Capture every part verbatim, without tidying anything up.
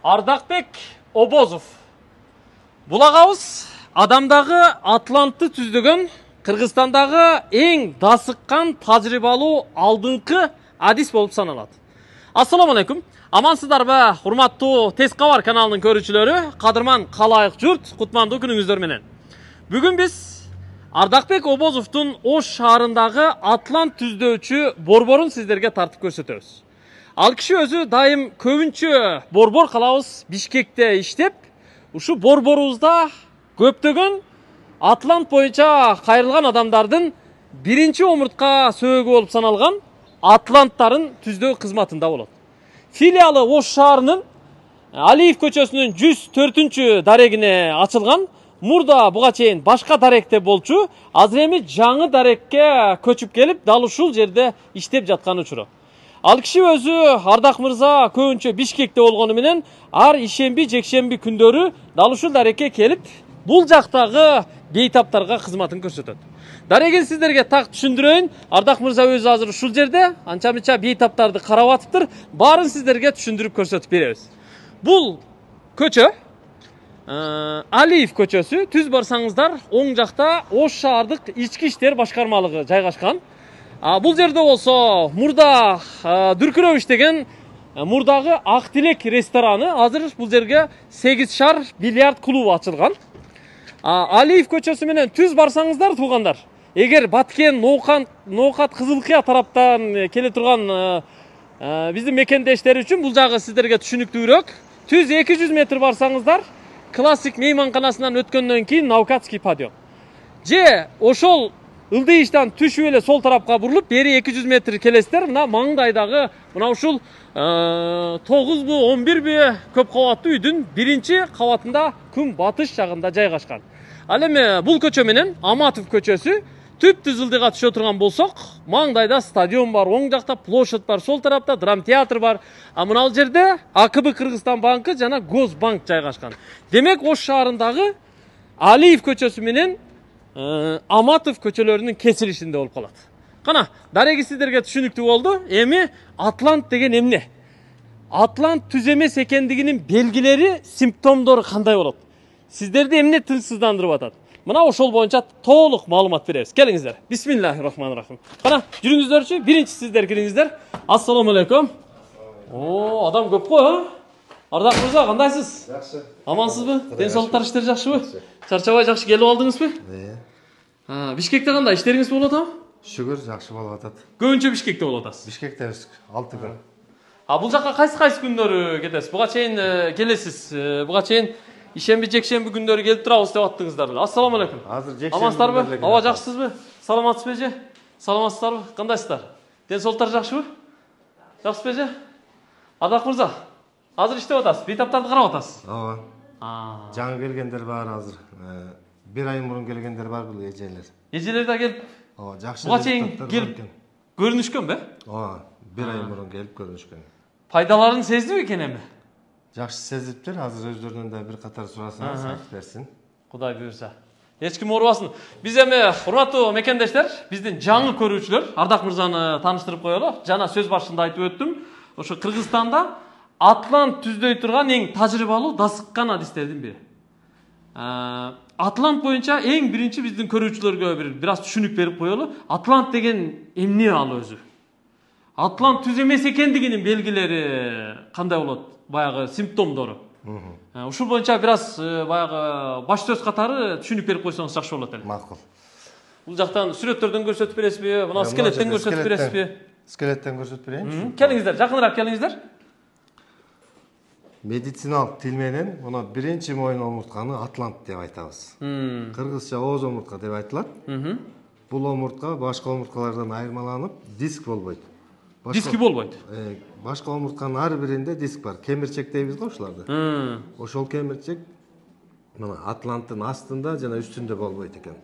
Ардакбек Обозов. Бул агабыз адамдагы Атлантты түздөгөн Кыргызстандагы эң дасыккан тажрыйбалуу алдыңкы адис болуп саналат. Ассаламу алейкум. Амансыздарбы, урматтуу Тез кабар каналынын көрүүчүлөрү, кадырман калайык журт, кутмандуу күнүңүздөр менен. Бүгүн биз Ардакбек Обозовдун Ош шаарындагы Атлант түздөөчү борборун сиздерге тартып көрсөтөбүз. Ал киши өзү дайым көбүнчө борбор калабыз Бишкекте иштеп, ушу борборубузда көптөгөн Атлант боюнча кайрылган адамдардын биринчи омуртка сөөгү болуп саналган Атланттарын түздөө кызматында болот. Филиалы Ош шаарынын Алиев көчөсүнүн жүз төртүнчү дарегине ачылган. Мурда буга чейин башка даректе болчу, азыр эми жаңы дарекке көчүп келип, дал ушул жерде иштеп жаткан учуру. Ал киши өзү Ардак мырза көбүнчө Бишкекте болгону менен ар ишемби, жекшемби күндөрү дал ушул дарекке келип, бул жактагы бейтаптарга кызматын көрсөтөт. Дарегин сиздерге так түшүндүрөйүн. Ардак мырза өзү азыр ушул жерде анча-мынча бейтаптарды карап атыптыр. Баарын сиздерге түшүндүрүп көрсөтүп беребиз. Бул көчө Алиев көчөсү. Түз барсаңыздар, оң жакта Ош шаардык ички иштер башкармалыгы жайгашкан. Бул жерде болсо мурда дүркүрөп иштеген мурдагы Ак Тилек рестораны, азыр бул жерге сегиз шар бильярд клубу ачылган. Алиев көчөсү менен түз барсаңыздар, туугандар, эгер Баткен, Ноокат, Ноокат Кызылкыя тараптан келе турган биздин мекендештер үчүн бул жагы сиздерге түшүнүктүүрөөк. Түз эки жүз метр барсаңыздар, классик мейманканасынан өткөндөн кийин Наукатский падион. Же ошол Ылдыйыштан түшүп эле сол тарапка бурулуп, бери эки жүз метр келесиздер, мына маңдайдагы мына ушул тогузбу он бирби көп кабаттуу үйдүн биринчи кабатында күн батыш жагында жайгашкан. Ал эми бул көчө менен Аматов көчөсү түп-түз ылдыйга түшө турган болсок, маңдайда стадион бар, оң жакта площадь бар, сол тарапта драмтеатр бар. А мына жерде А К Б Кыргызстан банкы жана Госбанк жайгашкан. Демек, Ош шаарындагы Алиев көчөсү менен Аматов көчөлөрүнүн кесилишинде болуп калат. Кана, дареги сиздерге түшүнүктүү болду. Эми Атлант деген эмне? Атлант түз эмес экендигинин белгилери, симптомдору кандай болот? Сиздерди эмне тынчсыздандырып атат? Мына ошол боюнча толук маалымат беребиз. Келиңиздер. Бисмиллахир-рахманир-рахим. Кана, жүрүңүздөрчү, биринчи сиздер кириңиздер. Ассаламу алейкум. О, адам көп го, а? Ардак мырза, кандайсыз? Жакшы. Амансызбы? Ден соолуктар, иштер жакшыбы? Чарчабай жакшы келип алдыңызбы? Э. Бишкекте кандай иштериңиз болуп атабы? Шүгүр, жакшы болуп атат. Көбүнчө Бишкекте болуп атасыз? Бишкекте алты күн. А бул жака кайсы-кайсы күндөрү кетесиз? Буга чейин келесиз. Буга чейин ишемби, жекшемби күндөрү келип турабыз деп аттыңыздар. Ассаламу алейкум. Азыр жекшемби. Амансыздарбы? Аба жакшысызбы? Саламатсызбы же? Саламатсыздарбы? Кандайсыздар? Ден соолуктар жакшыбы? Жакшысызбы же? Ардак мырза, азыр иштеп атасыз, бейтаптарды карап атасыз. Ооба. Жаңы келгендер бар азыр. Бир ай мурун келгендер бар бул эжелер. Эжелер да келип. Ооба, жакшы. Буга чейин келип көрүнүшкөнбү? Ооба, бир ай мурун келип көрүнүшкөн. Пайдаларын сездиби экен эми? Жакшы сезиптир, азыр өздөрүнөн да бир катар сурасаңыз айтып берсин. Кудай буйрса. Эч ким оорубасын. Биз эми, урматтуу мекендештер, биздин жаңы көрүүчүлөр, Ардак мырзаны тааныштырып коелу. Жана сөз башында айтып өттүм. Ошо Кыргызстанда Атлант түздөй турган эң тажрыйбалуу дасыккан адистердин бири. Атлант боюнча эң биринчи биздин көрүүчүлөргө бир бир аз түшүнүк берип коелу. Атлант деген эмне ал өзү? Атлант түз эмес экендигинин белгилери кандай болот? Баягы симптомдору. Ушул боюнча бир аз баягы баш сөз катары түшүнүк берип койсоңуз жакшы болот эле. Макул. Бул жактан сүрөттөрдөн көрсөтүп бересизби? Мына скелеттен көрсөтүп бересизби? Скелеттен көрсөтүп берейинчи. Келиңиздер, жакыныраак келиңиздер. Медициналык тил менен мына биринчи моюн омуртканы Атлант деп айтабыз. Кыргызча ооз омуртка деп айтылат. Бул омуртка башка омурткалардан айырмаланып, диск болбойт. Диски болбойт. Башка омуртканын ар биринде диск бар. Кемирчек дейбиз го ушуларды. Ошол кемирчек мына Атланттын астында жана үстүндө болбойт экен.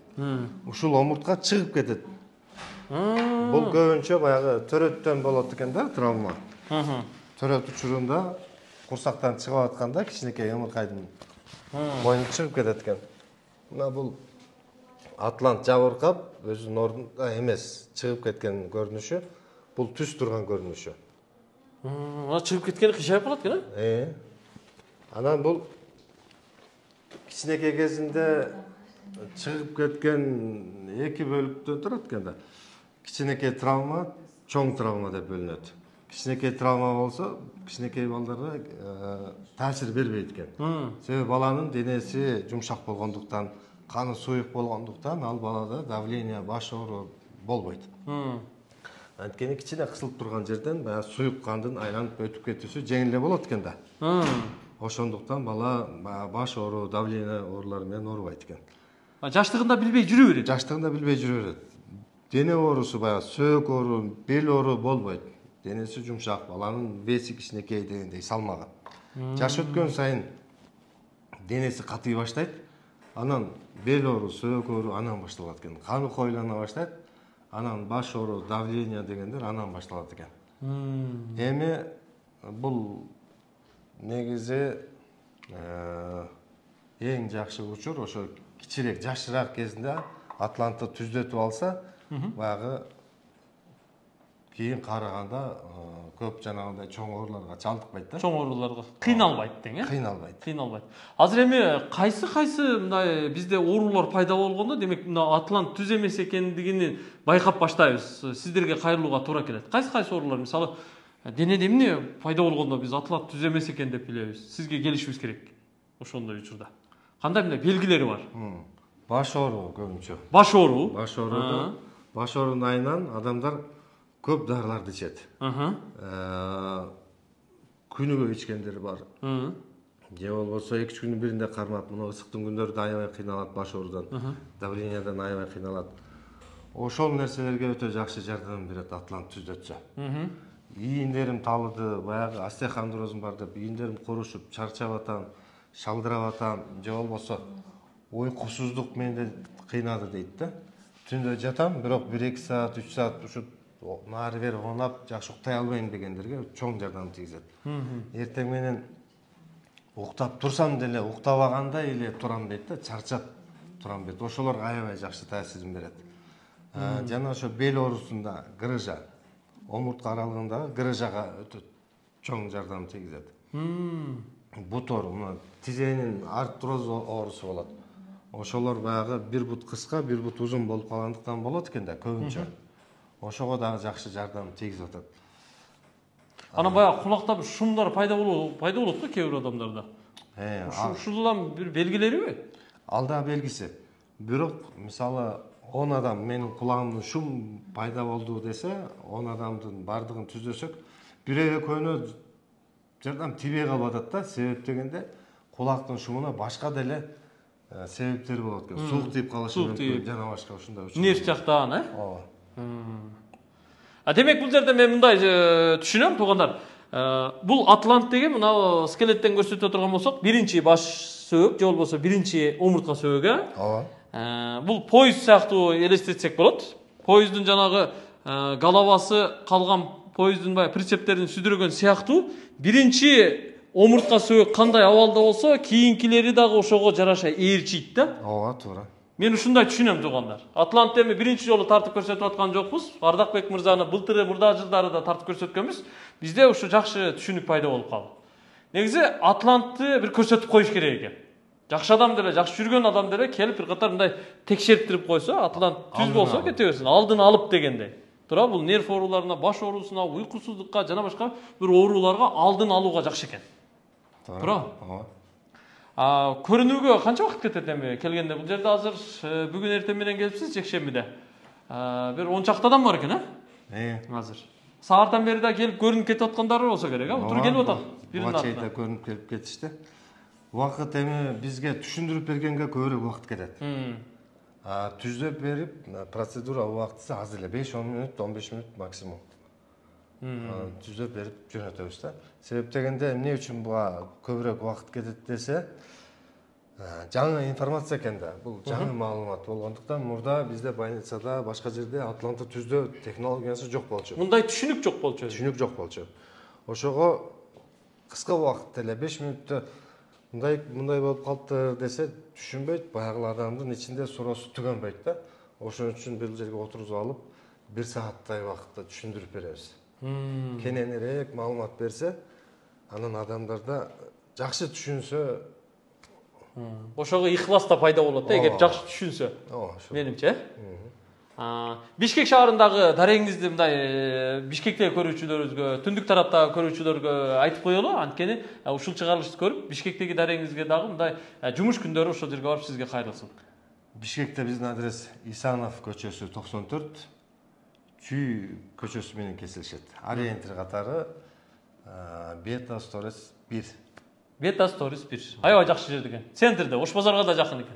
Ушул омуртка чыгып кетет. Бул көбүнчө баягы төрөттөн болот экен да, травма. Төрөт учурунда курсактан чыгып атканда кичинекей ымыркайдын мойну чыгып кетет экен. Мына бул Атлант жабыркап, өзүнүн ордунда эмес, чыгып кеткен көрүнүшү, бул түз турган көрүнүшү. Ана чыгып кеткени кышайып калат экен, э? Анан бул кичинекей кезинде чыгып кеткен эки бөлүктөн турат экен да. Кичинекей травма, чоң травма деп бөлүнөт. Кичинекей травма болсо, кичинекей балдарга таасир бербейт экен. Себеби баланын денеси жумшак болгондуктан, каны суюк болгондуктан ал балада давление, баш оору болбойт. Анткени кичине кысылып турган жерден баягы суюк кандын айланып өтүп кетүүсү жеңил эле болот экен да. Ошондуктан бала баш оору, давление оорулары менен оорубайт экен. Жаштыгында билбей жүрө берет. Жаштыгында билбей жүрө берет. Дене оорусу баягы сөөк оору, бел оору болбойт. Денеси жумшак, баланын веси кичинекей дегендей салмагы. Жаш өткөн сайын денеси катый баштайт. Анан бел оору, сөөк оору анан башталат экен. Каны коюлана баштайт. Анан баш оору, давление дегендер анан башталат экен. Эми бул негизи эң жакшы учур ошо кичирээк, жашыраак кезинде атлантты түздөтүп алса, баягы кийин караганда көп жанагындай чоң ооруларга чалдыкпайт да. Чоң ооруларга кыйналбайт дең, э? Кыйналбайт. Кыйналбайт. Азыр эми кайсы кайсы мындай бизде оорулар пайда болгондо, демек мына атлант түз эмес экендигин байкап баштайбыз. Сиздерге кайрылууга туура келет. Кайсы кайсы оорулар, мисалы, денеде эмне пайда болгондо биз атлант түз эмес экен деп билебиз. Сизге келишибиз керек ошондой учурда. Кандай мындай белгилери бар? Баш оору көбүнчө. Баш оору. Баш оору. Баш оорунун айынан адамдар көп дарыларды ичет. Күнүгө ичкендери бар. Же болбосо эки үч күндүн биринде кармап, мына ысыктын күндөрүндө аябай кыйналат баш оорудан, давлениядан аябай кыйналат. Ошол нерселерге өтө жакшы жардам берет атлант түздөтсө. Ийиндерим талыды, баягы остеохондрозум бар деп, ийиндерим курушуп, чарчап атам, шалдырап атам, же болбосо уйкусуздук менде кыйнады дейт да. Түндө жатам, бирок бир эки саат, үч саат ушу нары бери онап, жакшы уктай албайм дегендерге чоң жардам тийгизет. Эртең менен уктап турсам деле, уктабагандай эле турам дейт да, чарчап турам дейт. Ошолорго аябай жакшы таасирин берет. Жана ошо бел оорусунда грыжа, омуртка аралыгындагы грыжага өтө чоң жардам тийгизет. Бут оору, мына тизенин артроз оорусу болот. Ошолор баягы бир бут кыска, бир бут узун болуп калгандыктан болот экен да, көбүнчө. Ошого дагы жакшы жардам тийгизип атат. Анан баягы кулакта бир шумдар пайда болот, пайда болот го кээ бир адамдарда. Э, ушулам бир белгилериби? Ал да белгиси. Бирок, мисалы, он адам менин кулагымдан шум пайда болду десе, он адамдын бардыгын түздөсөк, бирөө экөөнө жардам тийбей калып атат да. Себеп дегенде кулактын шумуна башка деле себептери болот экен. Суук тийип калышы мүмкүн, жана башка ушундай. Нерв жактан, э? Ооба. А демек бул жерде мен мындай түшүнөм, туугандар. Бул атлант деген мына скелеттен көрсөтө турган болсок, биринчи баш сөөк же болбосо биринчи омуртка сөөгү. Ооба. Бул поезд сыяктуу элестетсек болот. Поезддин жанагы головасы калган поезддин баягы прицептерин сүдүргөн сыяктуу биринчи омуртка сөөк кандай абалда болсо, кийинкилери дагы ошого жараша ээрчийт да. Ооба, туура. Мен ушундай түшүнөм, туугандар. Атлант эми биринчи жолу тартып көрсөтүп аткан жокпуз. Ардакбек мырзаны былтыры мурда жылдары да тартып көрсөткөнбүз. Бизде ушу жакшы түшүнүк пайда болуп калды. Негизи атлантты бир көрсөтүп коюш керек экен. Жакшы адам деле, жакшы жүргөн адам деле келип бир катар мындай текшериптирип койсо, атлант түз болсо кете берсин, алдын алып дегендей. Туура, бул нерв ооруларына, баш оорусуна, уйкусуздукка жана башка бир ооруларга алдын алууга жакшы экен. Туура. Ооба. А көрүнүүгө канча убакыт кетет эми келгенде? Бул жерде азыр бүгүн эртең менен келипсиз, жекшембиде. Бир он чакты адам бар экен, э? Э. Азыр. Сааттан бери да келип көрүнүп кетип аткандары болсо керек, а? Тура келип атат. Биринин артынан көрүнүп келип кетишти. Убакыт эми бизге түшүндүрүп бергенге көбүрөөк убакыт кетет. А түздөп берип, процедура убакыты аз эле, беш он мүнөт, он беш мүнөт максимум. Түздөп берип жөнөтөбүз да. Себеп дегенде эмне үчүн буга көбүрөөк убакыт кетет десе, жаңы информация экен да. Бул жаңы маалымат болгондуктан мурда бизде больницада, башка жерде атлантты түздөө технологиясы жок болчу. Мындай түшүнүк жок болчу. Түшүнүк жок болчу. Ошого кыска убакытта эле беш мүнөттө мындай мындай болуп калыптыр десе түшүнбөйт, баягы адамдын ичинде суроосу түгөнбөйт да. Ошон үчүн бул жерге отургузуп алып, бир сааттай убакытта түшүндүрүп беребиз. Кененирээк маалымат берсе, анан адамдарда жакшы түшүнсө, ошого ыхлас да пайда болот да, эгер жакшы түшүнсө. ооба, ошо. Менимче. Бишкек шаарындагы дарегиңизди мындай Бишкектеги көрүүчүлөрүбүзгө, түндүк тараптагы көрүүчүлөргө айтып коелу, анткени ушул чыгарылышты көрүп, Бишкектеги дарегиңизге дагы мындай жумуш күндөрү ошол жерге барып сизге кайрылсын. Бишкекте биздин адрес Исанов көчөсү токсон төрт, Чүй көчөсү менен кесилишет. Ориентир катары Бета Сторис бир. Бета Сторис бир. Аябай жакшы жерде экен. Центрде, Ош базарга да жакын экен.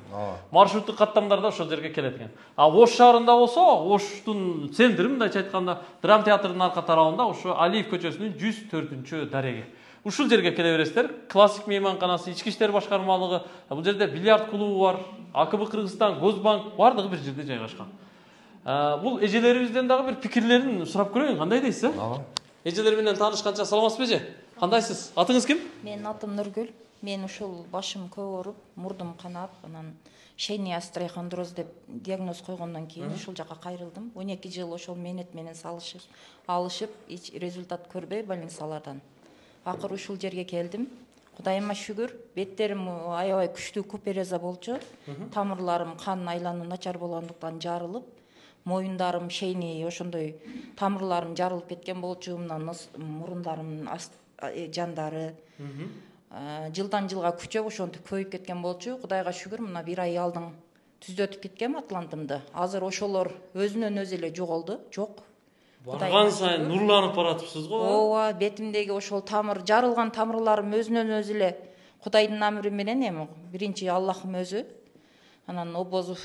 Маршруттук каттамдар да ошол жерге келет экен. А Ош шаарында болсо, Оштун центри, мындайча айтканда, драма театрдын арка тарабында ошо Алиев көчөсүнүн жүз төртүнчү дареги. Ушул жерге келе бересиздер. Классик мейманканасы, ички иштер башкармалыгы, бул жерде бильярд клубу бар, А К Б Кыргызстан, Госбанк бардыгы бир жерде жайгашкан. Бул эжелерибизден дагы бир пикирлерин сурап көрөйүн, кандай дейсиз? Ооба. Эжелер менен таанышканча саламатсызбы эже? Кандайсыз? Атыңыз ким? Менин атым Нургүл. Мен ушул башым көп ооруп, мурдум канап, анан шейный остеохондроз деп диагноз койгондон кийин ушул жака кайрылдым. он эки жыл ошол мээнет менен салышып, алышып, эч результат көрбөй больницалардан. Акыры ушул жерге келдим. Кудайыма шүгүр, беттерим аябай күчтүү купереза болчу. Тамырларым, кан айлануу начар болгондуктан жарылып, моюндарым, шейний ошондой тамырларым жарылып кеткен болчу, мына мурундарым жандары. Жылдан жылга күчөп ошентип көйүп кеткен болчу. Кудайга шүгүр, мына бир ай алдың түздөтүп кеткем атлантымды. Азыр ошолор өзүнөн өзү эле жоголду. Жок. Барган сайын нурланып баратыпсыз го. Ооба, бетимдеги ошол тамыр, жарылган тамырларым өзүнөн өзү эле Кудайдын амри менен эми биринчи Аллахым өзү. Анан Обозов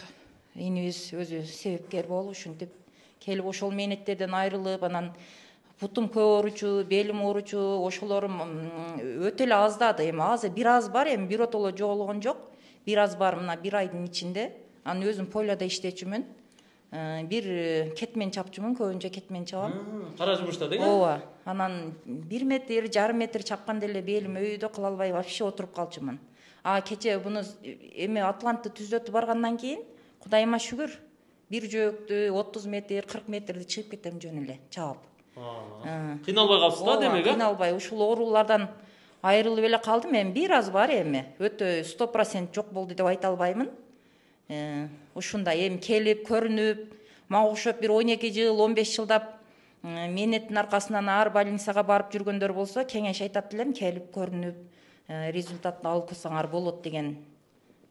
инибиз өзү себепкер болуп ушинтип келип ошол мээнеттерден айрылып, анан бутум көп ооручу, белим ооручу, ошолорум өтө эле аздады. Эми азыр бир аз бар, эми биротоло жоголгон жок. Бир аз бар мына бир айдын ичинде. Анан өзүм поляда иштечүмүн. Бир кетмен чапчумун, көбүнчө кетмен чабам. Кара жумушта деген? Ооба. Анан бир метр, жарым метр чапканда эле белим өйдө кыла албай вообще отуруп калчумун. А кече буну эми Атлантты түздөтүп баргандан кийин Кудайыма шүгүр, бир жөөктү отуз метр, кырк метрди чыгып кетем жөн эле чабып. Кыйналбай калсыз да демек, э? Кыйналбай, ушул оорулардан айрылып эле калдым. Эми бир аз бар эми. Өтө сто процент жок болду деп айта албаймын. Ушундай эми келип, көрүнүп, мага окшоп бир он эки жыл, он беш жылдап мээнеттин аркасынан ар больницага барып жүргөндөр болсо, кеңеш айтат элем, келип көрүнүп, результатты алып калсаңар болот деген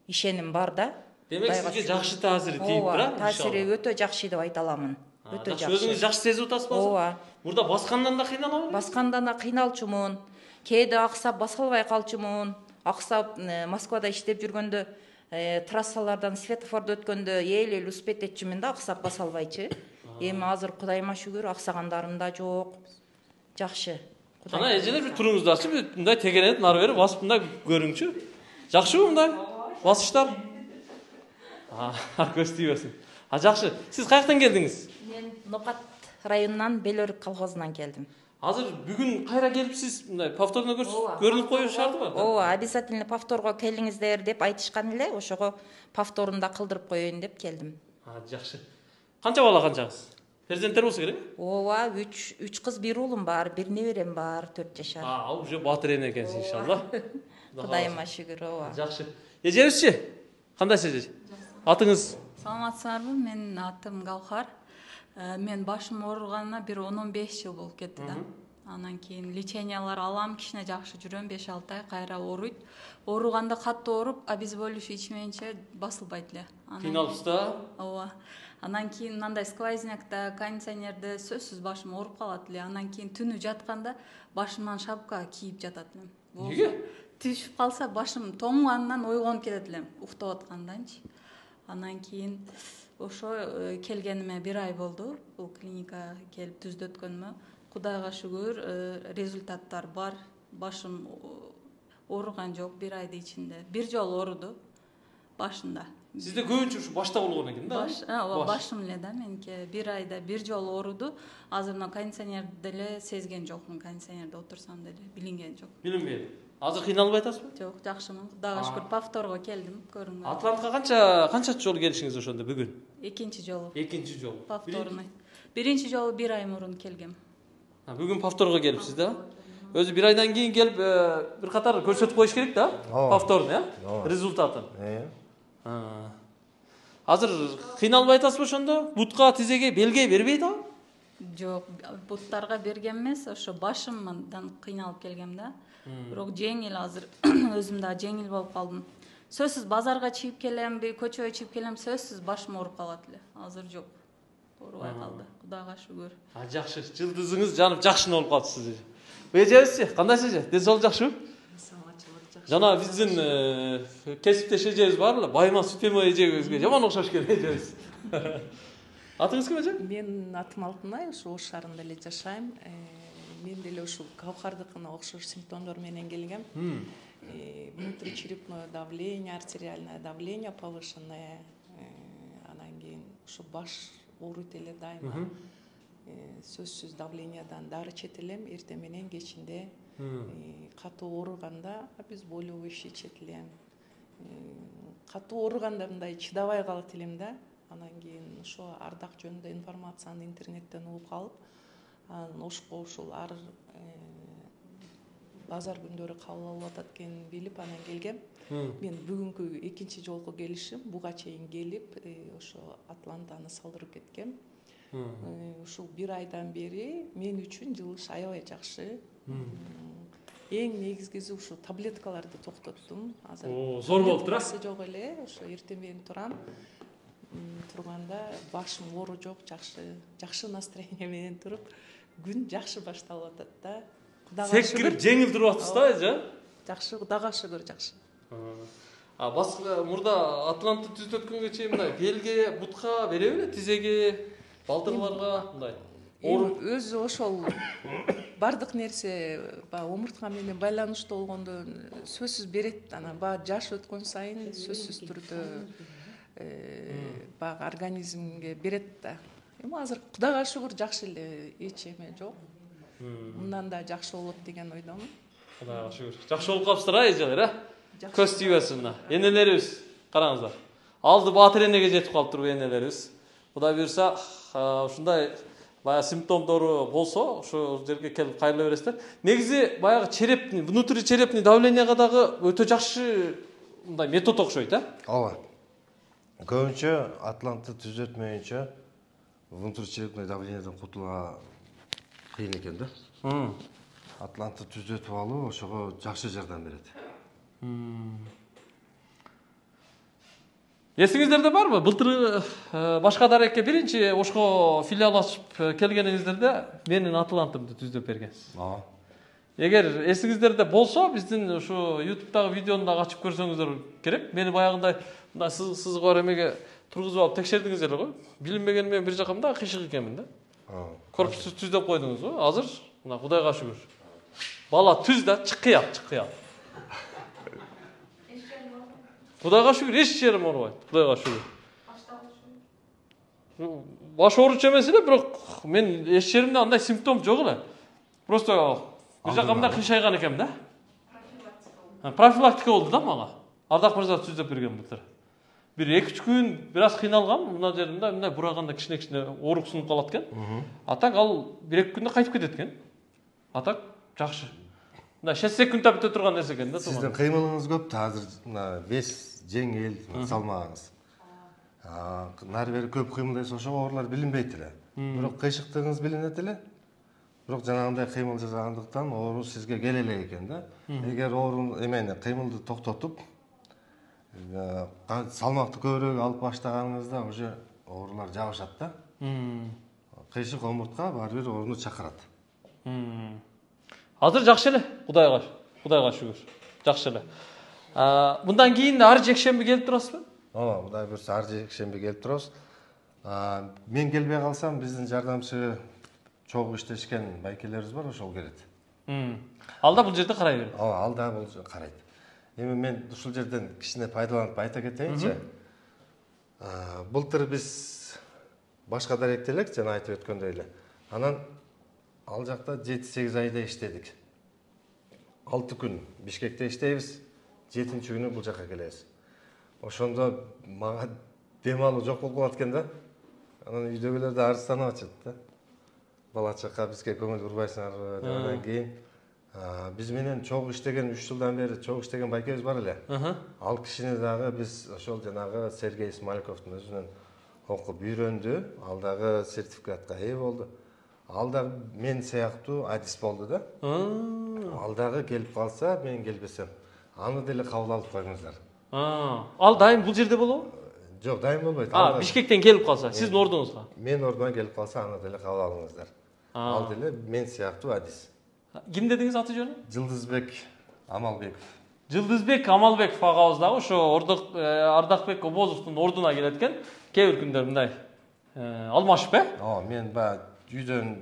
ишеним бар да. Демек сизге жакшы таасири тийип турат? Таасири өтө жакшы деп айта аламын. Өтө жакшы. Өзүңүз жакшы сезип атасызбы? Ооба. Мурда баскандан да кыйналабы? Баскандан да кыйналчумун. Кээде аксап баса албай калчумун. Аксап Москвада иштеп жүргөндө трассалардан светофорду өткөндө эл-эл успеть этчүмүн да, аксап баса албайчы. Эми азыр Кудайыма шүгүр, аксагандарым да жок. Жакшы. Ана эжелер бир туруңузду ачып, мындай тегеренип нары бери басып мындай көрүңчү. Жакшыбы мындай басыштар? А, көз тийбесин. А жакшы. Сиз каяктан келдиңиз? Мен Нокат районунан Белөрүк колхозунан келдим. Азыр бүгүн кайра келипсиз, мындай повторно көрүнүп коюш шартыбы? Ооба, обязательно повторго келиңиздер деп айтышкан эле, ошого повторунда кылдырып коеюн деп келдим. А, жакшы. Канча бала канчаңыз? Перзенттер болсо керек? Ооба, үч кыз, бир уулум бар, бир неберем бар, төрт жашар. А, уже батыр эне экенсиз иншалла. Кудайыма шүгүр, ооба. Жакшы. Эжебизчи? Кандайсыз эже? Атыңыз? Саламатсыздарбы? Менин атым Галхар. Мен башым ооруганына бир он он беш жыл болуп кетти да. Анан кийин лечениялар алам, кичине жакшы жүрөм, беш алты ай кайра ооруйт. Ооруганда катты ооруп, обезболивающий ичмейинче басылбайт эле. Кыйналыпсыз да? Ооба. Анан кийин мындай сквознякта, кондиционерде сөзсүз башым ооруп калат эле. Анан кийин түнү жатканда башымдан шапка кийип жатат элем. Эмнеге? Түшүп калса башым тоңгандан ойгонуп кетет элем, уктап атканданчы. Анан кийин ошо келгениме бир ай болду. Бул клиникага келип түздөткөнүмө. Кудайга шүгүр, результаттар бар. Башым ооруган жок бир айдын ичинде. Бир жолу ооруду башында. Сизде көбүнчө ушу башта болгон экен да? Баш, ооба, башым эле да меники. Бир айда бир жолу ооруду. Азыр мына кондиционерди деле сезген жокмун. Кондиционерде отурсам деле билинген жок. Билинбейт. Азыр кыйналбай атасызбы? Жок, жакшымын. Кудайга шүгүр, повторго келдим, көрүнгөн. Атлантка канча канча жолу келишиңиз ошондо бүгүн? Экинчи жолу. Экинчи жолу. Повторный. Биринчи жолу бир ай мурун келгем. Бүгүн повторго келипсиз да? өзү бир айдан кийин келип бир катар көрсөтүп коюш керек да, повторно, э? Результатын. Азыр кыйналбай атасызбы ошондо? Бутка, тизеге, белге бербейт ал? Жок, буттарга берген эмес, ошо башымдан кыйналып келгем да. Бирок жеңил азыр өзүм да жеңил болуп калдым. Сөзсүз базарга чыгып келемби, көчөгө чыгып келем, сөзсүз башым ооруп калат эле. Азыр жок. Оорубай калды. Кудайга шүгүр. А жакшы, жылдызыңыз жанып жакшы болуп калыпсыз. Эжебизчи, кандайсыз эже? Ден соолук жакшыбы? Жана биздин кесиптеш эжебиз бар эле, Байма Сүтемой эжебизге жаман окшош экен эжебиз. Атыңыз ким эже? Мен атым Алтынай, ошо Ош шаарында эле жашайм. Мен деле ушул Кавкардыкына окшош симптомдор менен келгем. Внутричерепное давление, артериальное давление повышенное, анан кийин ушу баш ооруйт эле дайыма. Сөзсүз давлениядан дары ичет элем, эртең менен кечинде катуу ооруганда обезболивающий ичет элем. Катуу ооруганда мындай чыдабай калат элем да. Анан кийин ошо ардак жөнүндө информацияны интернеттен угуп калып, анан Ошко ушул ар базар күндөрү кабыл алып атат экенин билип анан келгем. Мен бүгүнкү экинчи жолку келишим, буга чейин келип, ошо Атлантаны салдырып кеткем. Ушул бир айдан бери мен үчүн жылыш аябай жакшы. Эң негизгиси ушу таблеткаларды токтоттум. Азыр зор болуптур а? Жок эле, ошо эртең менен турам. Турганда башым оору жок, жакшы, жакшы настроение менен туруп, күн жакшы башталып атат да. Кудайга шүгүр. Секирип жеңил туруп атасыз да, эже? Жакшы, Кудайга шүгүр, жакшы. А башка мурда Атлантты түзөткөнгө чейин мындай белге, бутка береби эле, тизеге, балтырларга мындай. Өзү ошол бардык нерсе баягы омуртка менен байланыштуу болгондо сөзсүз берет. Анан баягы жаш өткөн сайын сөзсүз түрдө баягы организмге берет да. Эми азыр Кудайга шүгүр жакшы эле, эч эме жок. Мындан да жакшы болот деген ойдомун. Кудайга шүгүр. Жакшы болуп калыпсыздар а, эжелер, а? Көз тийбесин мына. Энелерибиз, караңыздар. Алды Батыр энеге жетип калыптыр энелерибиз. Кудай буйрса, ушундай баягы симптомдору болсо, ошол жерге келип кайрыла бересиздер. Негизи баягы черепний, внутричерепный давлениега дагы өтө жакшы мындай метод окшойт, а? Ооба. Көбүнчө Атлантты түзөтмөйүнчө внутричерепный давлениядан кутулууга кыйын экен да. Атлантты түзөтүп алуу ошого жакшы жардам берет. Эсиңиздерде барбы? Былтыр башка дарекке биринчи Ошко филиал ачып келгениңиздерде менин Атлантымды түздөп бергенсиз. Ооба. Эгер эсиңиздерде болсо, биздин ушу YouTube'дагы видеону дагы ачып көрсөңүздөр керек. Мени баягындай мындай сызык бар эмеге тургузуп алып текшердиңиз эле го. Билинбеген мен бир жакка мындай кыйшык экенмин да. Корпусту түздөп койдуңуз го. Азыр мына Кудайга шүгүр. Бала түз да, чыкыят, чыкыят. Кудайга шүгүр, эч жерим оорубайт. Кудайга шүгүр. Баш ооручу эмес эле, бирок мен эч жеримде андай симптом жок эле. Просто бир жакка мындай кыйшайган экенмин да. Профилактика болду да мага. Ардак мырза түздөп берген былтыр. Бир эки үч күн бир аз кыйналгам, мына жеримде мындай бураганда кичине-кичине оорук сунуп калат экен. А так ал бир эки күндө кайтып кетет экен. А так жакшы. Мындай шесть секундта бүтө турган нерсе экен да. Сиздин кыймылыңыз көп да, азыр мына вес жеңил, салмагыңыз. Нары бери көп кыймылдайсыз, ошого оорулар билинбейт эле. Бирок кыйшыктыгыңыз билинет эле. Бирок жанагындай кыймыл жасагандыктан оору сизге келе элек экен да. Эгер оору эмени кыймылды токтотуп, салмакты көбүрөөк алып баштаганыңызда уже оорулар жабышат да. Кыйшык омуртка баары бир ооруну чакырат. Азыр жакшы эле, Кудайга, Кудайга шүгүр. Жакшы эле. Мындан кийин ар жекшемби келип турасызбы? Ооба, Кудай буйрса ар жекшемби келип турабыз. Мен келбей калсам, биздин жардамчы чогуу иштешкен байкелерибиз бар, ошол келет. Ал да бул жерде карай берет. Ооба, ал да бул карайт. Эми мен ушул жерден кичине пайдаланып айта кетейинчи. Былтыр биз башка даректе элек, жана айтып өткөндөй эле. Анан ал жакта жети сегиз айда иштедик. алты күн Бишкекте иштейбиз, жетинчи күнү бул жака келебиз. Ошондо мага дем алуу жок болуп калат экен да. Анан үйдөгүлөр да арызданып атышат да. Бала чака бизге көңүл бурбайсыңарбы деп, анан кийин Биз менен чогуу иштеген үч жылдан бери чогуу иштеген байкебиз бар эле. Ал кишини дагы биз ошол жанагы Сергей Смальковдун өзүнөн окуп үйрөндү. Ал дагы сертификатка ээ болду. Ал дагы мен сыяктуу адис болду да. Ал дагы келип калса, мен келбесем, аны деле кабыл алып коюңуздар. Ал дайым бул жерде болобу? Жок, дайым болбойт. А, Бишкектен келип калса, сиздин ордуңузга. Мен ордума келип калса, аны деле кабыл алыңыздар. Ал деле мен сыяктуу адис. Ким дедиңиз аты жөнү? Жылдызбек Амалбеков. Жылдызбек Амалбеков агабыз дагы ошо Ардакбек Обозовдун ордуна келет экен. Кээ бир күндөр мындай алмашып, э? Ооба, мен баягы үйдөн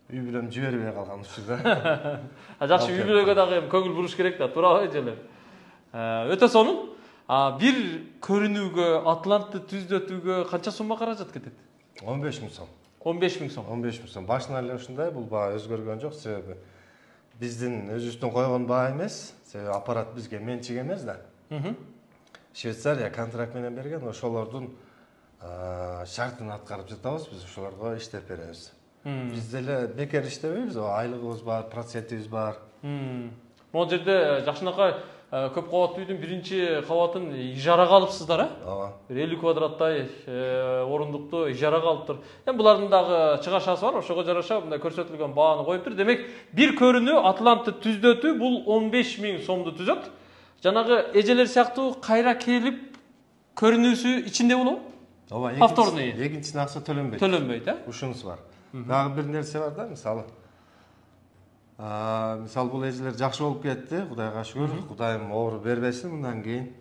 үй бүлөм жибербей калган учурда. Жакшы, үй бүлөгө дагы көңүл буруш керек да, туурабы эжелер? Өтө сонун. Бир көрүнүүгө, Атлантты түздөтүүгө канча сумма каражат кетет? он беш миң сом. он беш миң сом. он беш миң сом. Башынан эле ушундай, бул баа өзгөргөн жок, себеби биздин өзүбүздүн койгон баа эмес, себеби аппарат бизге менчик эмес да. Швейцария контракт менен берген, ошолордун шартын аткарып жатабыз, биз ошолорго иштеп беребиз. Биз деле бекер иштебейбиз, айлыгыбыз бар, процентибиз бар. Могул жерде жакшынакай көп кабаттуу үйдүн биринчи кабатын ижарага алыпсыздар, э? Ооба. бир элүү квадраттай орундукту ижарага алыптыр. Эми булардын дагы чыгашасы бар, ошого жараша мындай көрсөтүлгөн бааны коюптур. Демек, бир көрүнүү Атлантты түздөтүү бул он беш миң сомду түзөт. Жанагы эжелер сыяктуу кайра келип көрүнүүсү ичинде болобу? Ооба, повторный. Экинчисине акча төлөнбөйт. Төлөнбөйт, э? Ушунусу бар. Дагы бир нерсе бар да, мисалы. Мисалы бул эжелер жакшы болуп кетти, Кудайга шүгүр. Кудайым оору бербесин мындан кийин.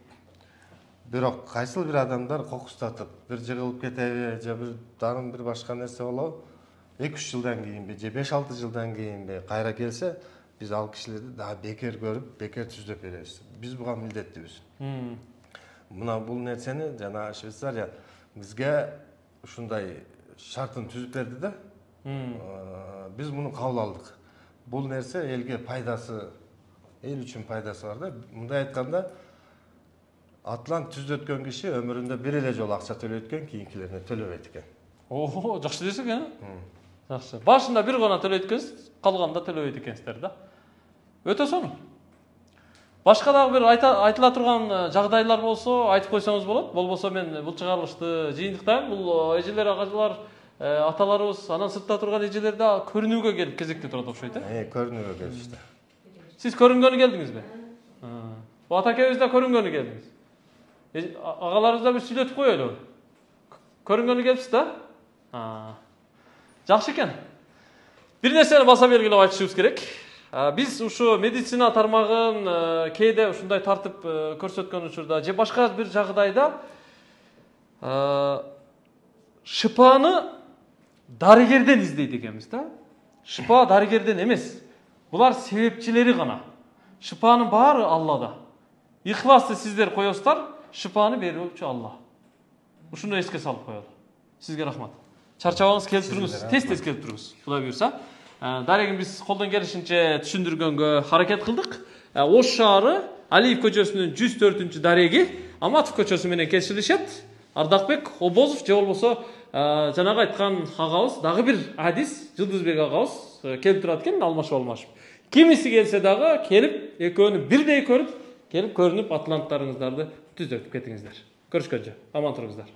Бирок кайсыл бир адамдар кокустатып, бир жыгылып кетеби, же бир дагы бир башка нерсе болобу? эки үч жылдан кийинби, же беш алты жылдан кийинби кайра келсе, биз ал кишилерди дагы бекер көрүп, бекер түздөп беребиз. Биз буга милдеттүүбүз. Мына бул нерсени жана Швейцария бизге ушундай шартын түзүп берди да. Биз муну кабыл алдык. Бул нерсе элге пайдасы, эл үчүн пайдасы бар да. Мындай айтканда, Атлант түздөткөн киши өмүрүндө бир эле жолу акча төлөйт экен, кийинкилерине төлөбөйт экен. Ого, жакшы десек, э? Жакшы. Башында бир гана төлөйт экенсиз, калганда төлөбөйт экенсиздер да. Өтө сонун. Башка дагы бир айтыла турган жагдайлар болсо, айтып койсоңуз болот. Болбосо мен бул чыгарылышты жыйынтыктайм. Бул эжелер, агайлар, аталарыбыз, анан сыртта турган эжелер да көрүнүүгө келип кезекте турат окшойт, э? Э, көрүнүүгө келишти. Сиз көрүнгөнү келдиңизби? Бу атакебиз да көрүнгөнү келдиңиз. Агаларыбыз да бир сүйлөтүп коелу. Көрүнгөнү келипсиз да? Жакшы экен. Бир нерсени баса белгилеп айтышыбыз керек. Биз ушу медицина тармагын кээде ушундай тартып көрсөткөн учурда же башка бир жагдайда шыпаны дарыгерден издейт экенбиз да. Шыпа дарыгерден эмес. Булар себепчилери гана. Шыпанын баары Аллада. Ихласты сиздер коесуздар, шыпаны берүүчү Алла. Ушуну эске салып коелу. Сизге рахмат. Чарчабаңыз келип туруңуз, тез-тез келип туруңуз. Кудай буйрса. Дарегин биз колдон келишинче түшүндүргөнгө аракет кылдык. Ош шаары Алиев көчөсүнүн жүз төртүнчү дареги Аматов көчөсү менен кесилишет. Ардакбек Обозов же болбосо жанагы айткан агабыз дагы бир адис Жылдызбек агабыз келип турат экен, алмашып алмашып. Кимиси келсе дагы келип экөөнү бирдей көрүп, келип көрүнүп атланттарыңыздарды түздөртүп кетиңиздер. Көрүшкөнчө аман туруңуздар.